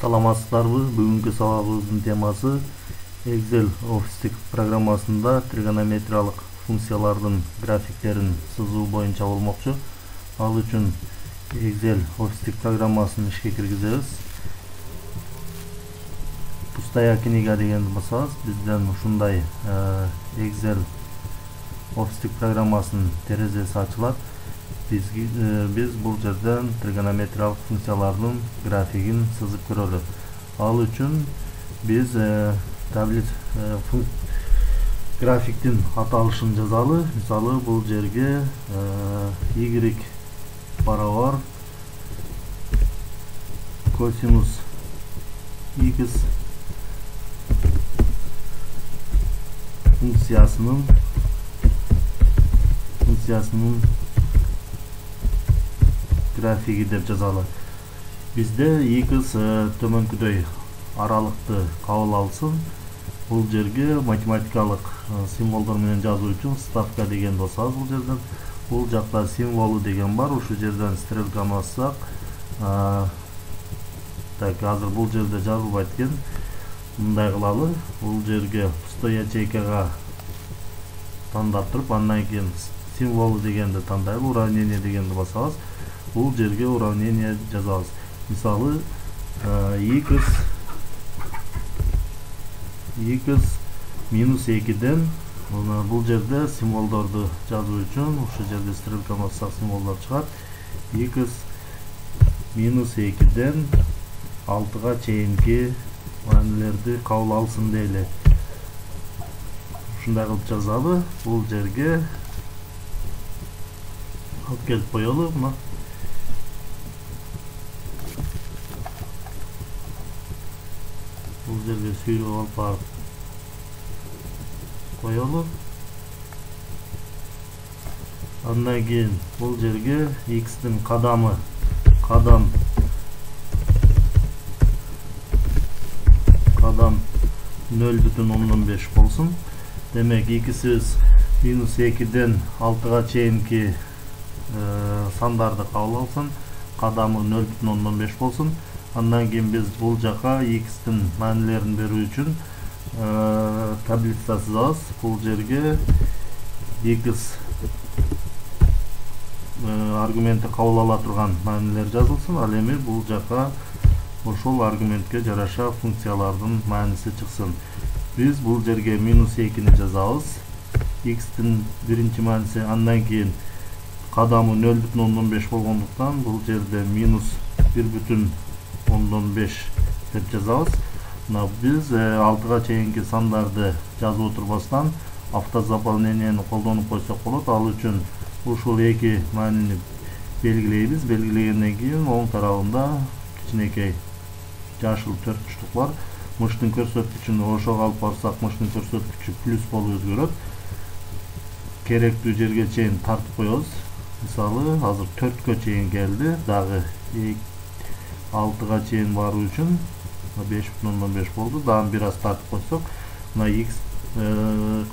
Саламатсыздарбы? Бүгүнкү сабагыбыздын темасы Excel офистик программасында тригонометриялык функциялардын графиктерин сызуу боюнча болмокчу. Ал үчүн Excel офистик программасын ишке киргизебиз. Пустая книга дегенди басабыз, бизден ушундай Excel офистик программасынын терезеси ачылат. Биз бул жерден тригонометриялык функциялардын графигин сызып көрөлү. Ал үчүн биз графиктин аталышын жазалы. Мисалы бул жерге y барабар косинус x функциясынын графиги деп жазалы. Бизде x төмөнкүдөй аралыкты кабыл алсын. Бул жерге математикалык символдор менен жазуу үчүн ставка деген басабыз бул жерден. Бул жакта символу деген бар. Ушул жерден стрелканы бассак, так азыр бул жерде жазылбайт экен. Мындай кылалы. Бул жерге пустой ячейкага тандап туруп, андан кийин символу дегенди тандайлы, уравнение дегенди басабыз. Бул жерге уравнение жазабыз. Мисалы x минус 2ден бул жерде символдорду жазуу үчүн ушул жерде стрелканы бассак символдор чыгат. X минус 2ден 6га чейинки маанилерди кабыл алсын дейли. Ушундай кылып жазалы. Бул жерге алып келип коелу. Бул жерге сүйрөп алып барып коелу. Андан кийин бул жерге x'тин кадам 0,5 болсун. Демек x'ибиз минус 2ден 6га чейинки сандарды кабыл алсын, кадамы 0,5 болсун. Андан кийин биз бул жака x'тин маанилерин берүү үчүн таблица сызабыз. Бул жерге x аргументи кабыл ала турган маанилер жазылсын. Ал эми бул жака ошол аргументке жараша функциялардын мааниси чыксын. Биз бул жерге минус 2ни жазабыз. X'тин биринчи мааниси, андан кийин кадамы 0,5 болгондуктан бул жерде минус 1,5 деп жазабыз. Биз 6га чейинки сандарды жазып отурбастан автозаполнениени колдонуп койсок болот. Ал үчүн ушул эки маанини белгилейбиз. Белгилегенден кийин оң тарабында кичинекей жашыл төртбуштук бар. Мыштын көрсөткүчүн ошого алып барсак, мыштын көрсөткүчү плюс болуп өзгөрөт. Керектүү жерге чейин тартып коебуз. Мисалы азыр 4кө чейин келди. Дагы 6га чейин баруу үчүн 5,5 болду. Дагы бир аз тартып койсок, мына x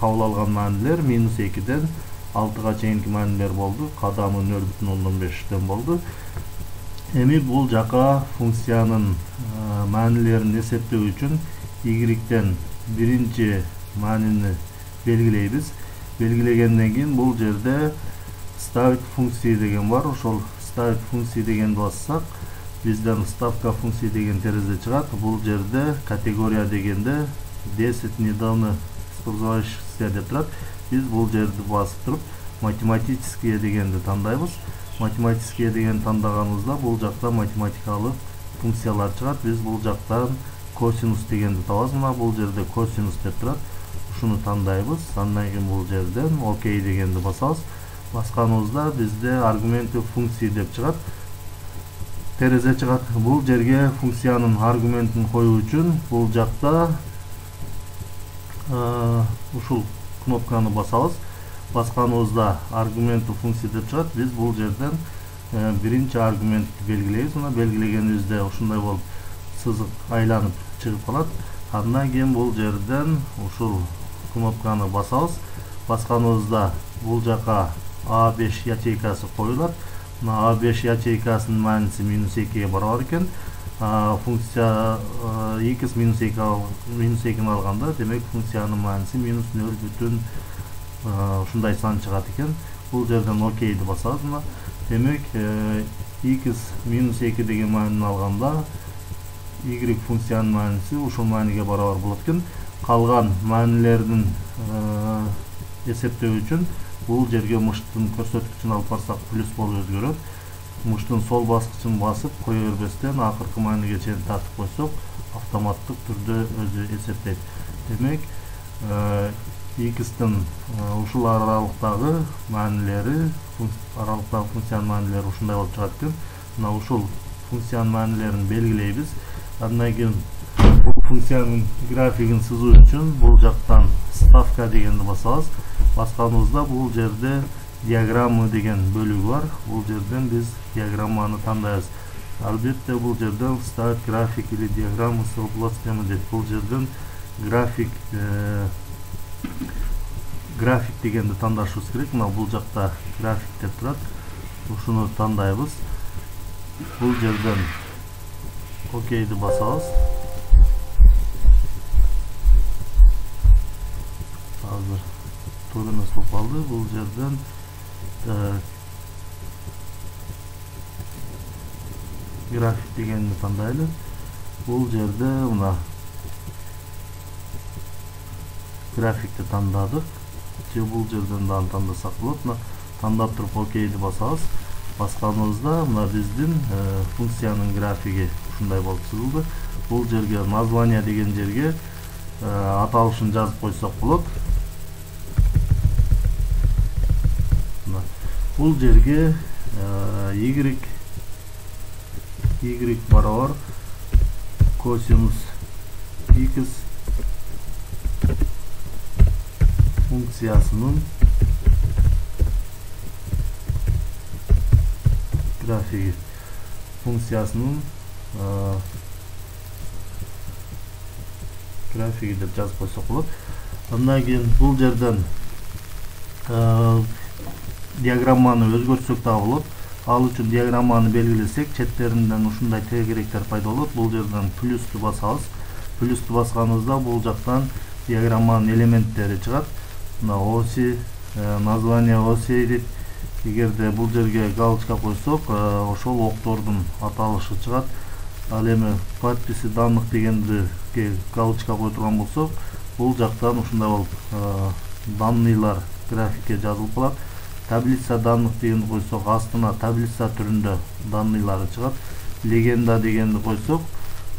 кабыл алган маанилер минус 2ден 6га чейинки маанилер болду. Кадамы 0,5ден болду. Эми бул жака функциянын маанилерин эсептөө үчүн y-ден биринчи маанини белгилейбиз. Белгилегенден кийин бул жерде ставить функции деген бар. Ошол ставить функции дегенди бассак, бизден ставка функции деген терезе чыгат. Бул жерде категория дегенде 10 недавно использовавшихся деп турат. Биз бул жерди басып туруп математические дегенди тандайбыз. Математические деген тандаганыбызда бул жакта математикалык функциялар чыгат. Биз бул жактан косинус дегенди табабыз. Мына бул жерде косинус деп турат. Ушуну тандайбыз. Андан кийин бул жерден окей дегенди басабыз. Басканыбызда бизде аргументи функции деп чыгат. Терезе чыгат. Бул жерге функциянын аргументин коюу үчүн бул жакта ушул кнопканы басабыз. Басканыбызда аргументи функции деп чыгат. Биз бул жерден биринчи аргументти белгилейбиз. Мына белгилегенибизде ушундай болуп сызык айланып чыгып калат. Андан кийин бул жерден ушул кнопканы басабыз. Басканыбызда бул жака A5 ячейкасы коюлат. A5 ячейкасынын мааниси минус 2ге барабар экен. функция x минус 2 алганда, демек функциянын мааниси минус 0 ушундай сан чыгат экен. Бул жерден окейди басабыз. Мына демек x минус 2 деген маанини алганда y функциянын мааниси ушул мааниге барабар болот экен. Калган маанилердин эсептөө үчүн бул жерге мыштын көрсөткүчүн алып барсак плюс болуп өзгөрөт. Мыштын сол баскычын басып кое бербестен акыркы мааниге чейин тартып койсок, автоматтык түрдө өзү эсептейт. Демек x'тин ушул аралыктагы маанилери, аралыктагы функциянын маанилери ушундай болуп чыгат экен. Мына ушул функциянын маанилерин белгилейбиз. Андан кийин бул функциянын графигин сызуу үчүн бул жактан ставка дегенди басабыз. Басканыбызда бул жерде диаграммы деген бөлүгү бар. Бул жерден биз диаграмманы тандайбыз. Албетте бул жерден ставить график или диаграммы с областями дейт. Бул жерден график дегенди тандашыбыз керек. Мына бул жакта график деп турат. Ушуну тандайбыз. Бул жерден окейди басабыз. Азыр туура эмес болуп калды. Бул жерден график дегенди тандайлы. Бул жерде мына графикти тандадык. Же бул жерден дагы тандасак болот. Мына тандап туруп окейди басабыз. Басканыбызда мына биздин функциянын графиги ушундай болуп чыгылды. Бул жерге название деген жерге аталышын жазып койсок болот. Бул жерге y барабар косинус x функциясынын графиги, функциясынын графиги деп жазып койсок болот. Андан кийин бул жерден диаграмманы өзгөртсөк да болот. Ал үчүн диаграмманы белгилесек, четтеринден ушундай тегеректер пайда болот. Бул жерден плюсту басабыз. Плюсту басканыбызда бул жактан диаграмманын элементтери чыгат. Мына оси, название оси дейт. Эгерде бул жерге галочка койсок, ошол октордун аталышы чыгат. Ал эми подписи данных дегенди галочка кое турган болсок, бул жактан ушундай болуп данныйлар графикке жазылып калат. Таблица данных дегенди койсок, астына таблица түрүндө данныйлары чыгат. Легенда дегенди койсок,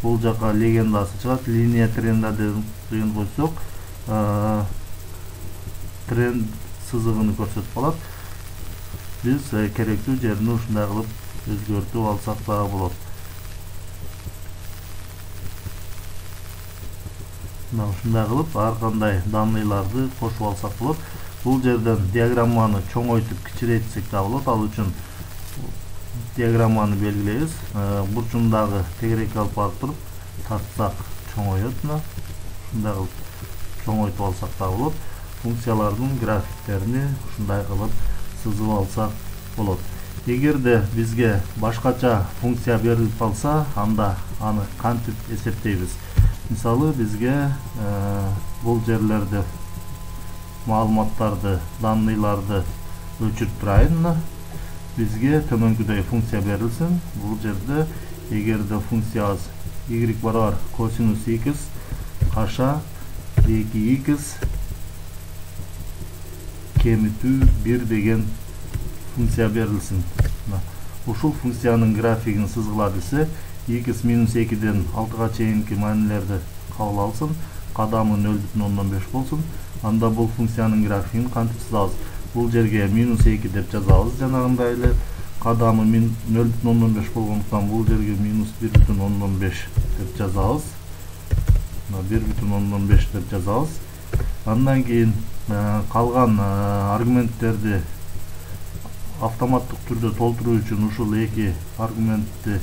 бул жака легендасы чыгат. Линия тренда дегенди койсок, тренд сызыгын көрсөтүп калат. Биз керектүү жерин ушундай кылып өзгөртүп алсак да болот. Мына ушундай кылып ар кандай данныйларды кошуп алсак болот. Бул жерден диаграмманы чоңойтуп кичирейтсек да болот. Ал үчүн диаграмманы белгилейбиз. Бурчундагы тегерекке алып барып туруп тартсак чоңойот. Мына ушундай кылып чоңойтуп алсак да болот. Функциялардын графиктерини ушундай кылып сызып алсак болот. Эгерде бизге башкача функция берилип калса, анда аны кантип эсептейбиз? Мисалы, бизге бул жерлерде маалыматтарды, данныйларды өчүрүп турайын. Бизге төмөнкүдөй функция берилсин. Бул жерде эгерде функциябыз y барабар косинус x каша 2x кемитүү 1 деген функция берилсин. Ушул функциянын графигин сызгыла десе, x минус 2ден 6га чейинки маанилерди кабыл алсын, кадамы 0,5 болсун. Анда бул функциянын графигин кантип сызабыз? Бул жерге минус 2 деп жазабыз, жанагындай эле. Кадамы 0,5 болгондуктан бул жерге минус 1,5 деп жазабыз. 1,5 деп жазабыз. Андан кийин калган аргументтерди автоматтык түрдө толтуруу үчүн ушул эки аргументти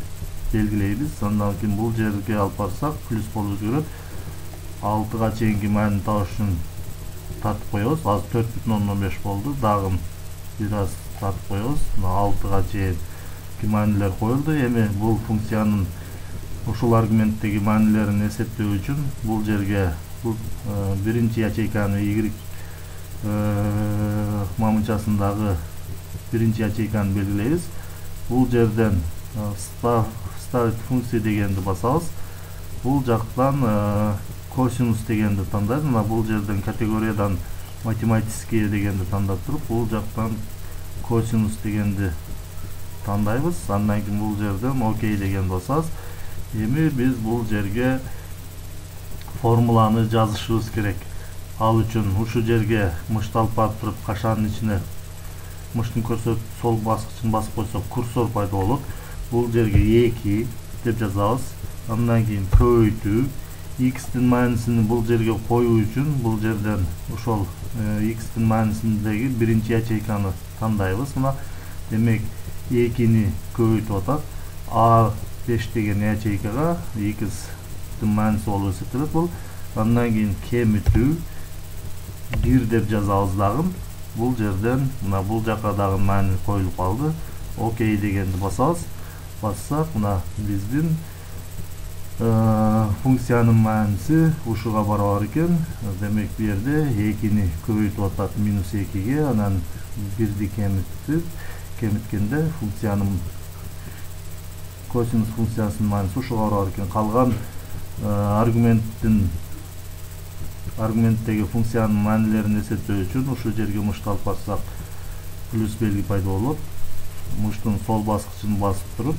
белгилейбиз. Андан кийин бул жерге алып барсак плюс болуп өзгөрөт. 6га чейинки маанини табыш үчүн тартып коебуз. Азыр 4,5 болду. Дагы бир аз тартып коебуз. 6га чейинки маанилер коюлду. Эми бул функциянын ушул аргументтеги маанилерин эсептөө үчүн бул жерге биринчи ячейканы Y мамынчасындагы биринчи ячейканы белгилейбиз. Бул жерден ставить функция дегенди басабыз. Бул жактан косинус дегенди тандайбыз. Мына бул жерден категориядан математические дегенди тандап туруп, бул жактан косинус дегенди тандайбыз. Андан кийин бул жерден окей дегенди басабыз. Эми биз бул жерге формуланы жазышыбыз керек. Ал үчүн ушул жерге мышты алып барып туруп, кашанын ичине мыштын көрсөтүп сол баскычын басып койсок, курсор пайда болот. Бул жерге 2 деп жазабыз. Андан кийин көбөйтүү, x'тин маанисин бул жерге коюу үчүн бул жерден ошол x'тин маанисиндеги биринчи ячейканы тандайбыз. Мына демек 2-ни көбөйтүп атат. A5 деген ячейкага x'тин мааниси болуп эсептелет бул. Андан кийин кемитүү 1 деп жазабыз дагы. Бул жерден мына бул жака дагы маани коюлуп калды. Окей дегенди басабыз. Бассак, мына биздин функциянын мааниси ушуга барабар экен. Демек бу жерде 2-ни көбөйтүп атат -2-ге, анан 1-ди кемиткенде функциянын косинус функциясынын мааниси ушуга барабар экен. Калган аргументтеги функциянын маанилерин эсептөө үчүн ушул жерге мышты алып барсак, плюс белги пайда болот. Мыштын сол баскычын басып туруп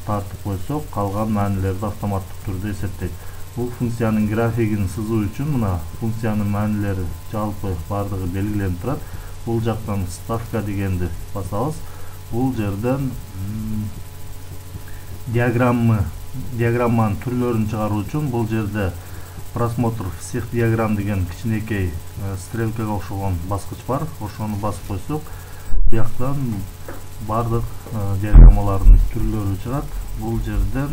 тартып койсок, калган маанилерди автоматтык түрдө эсептейт. Бул функциянын графигин сызуу үчүн мына функциянын маанилери жалпы бардыгы белгиленип турат. Бул жактан ставка дегенди басабыз. Бул жерден диаграмманын түрлөрүн чыгаруу үчүн бул жерде просмотр всех диаграмм деген кичинекей стрелкага окшогон баскыч бар. Ошону басып койсок, бияктан бардык диаграммалардын түрлөрү чыгат. Бул жерден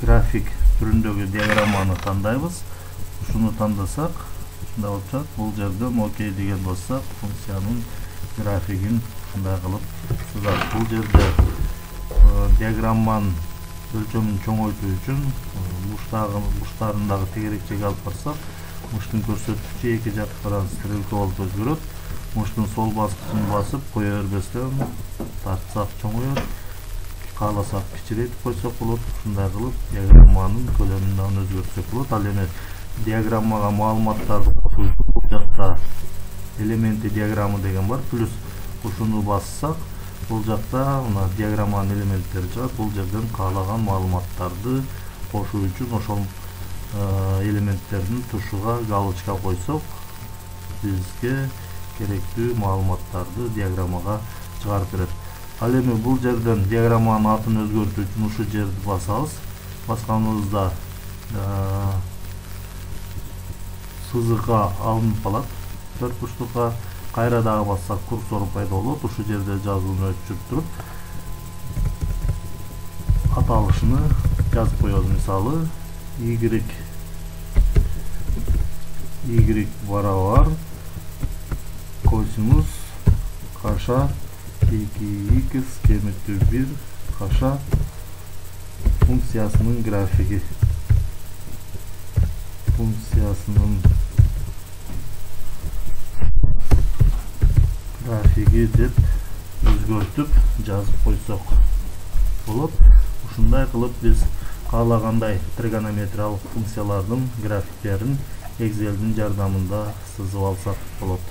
график түрүндөгү диаграмманы тандайбыз. Ушуну тандасак, ушундай болуп чыгат. Бул жерден окей деген бассак, функциянын графигин ушундай кылып сызат. Бул жерде диаграмманын өлчөмүн чоңойтуу үчүн буштарындагы тегерекчеге алып барсак, мыштын көрсөткүчү эки жактан стрелка болуп өзгөрөт. Мыштын сол баскычын басып кое бербестен тартсак чоңойот, кааласак кичирейтип койсок болот. Ушундай кылып диаграмманын көлөмүн дагы өзгөртсөк болот. Ал эми диаграммага маалыматтарды кошуу үчүн бул жакта элементи диаграммы деген бар. Плюс ушуну бассак, бул жакта мына диаграмманын элементтери чыгат. Бул жерден каалаган маалыматтарды кошуу үчүн ошол элементтердин тушуга галочка койсок, бизге керектүү маалыматтарды диаграммага чыгарып берет. Ал эми бул жерден диаграмманын атын өзгөртүү үчүн ушул жерди басабыз. Басканыбызда сызыкка алынып калат. Төрт бурчтукка кайра дагы бассак, курсор пайда болот. Ушул жерде жазууну өчүрүп туруп аталышыны жазып коебуз. Мисалы y барабар косинус каша 2x кемитүү 1 каша функциясынын графиги. Деп өзгөртүп жазып койсок болот. Ушундай кылып биз каалагандай тригонометриялык функциялардын графиктерин Excel'дин жардамында сызып алсак болот.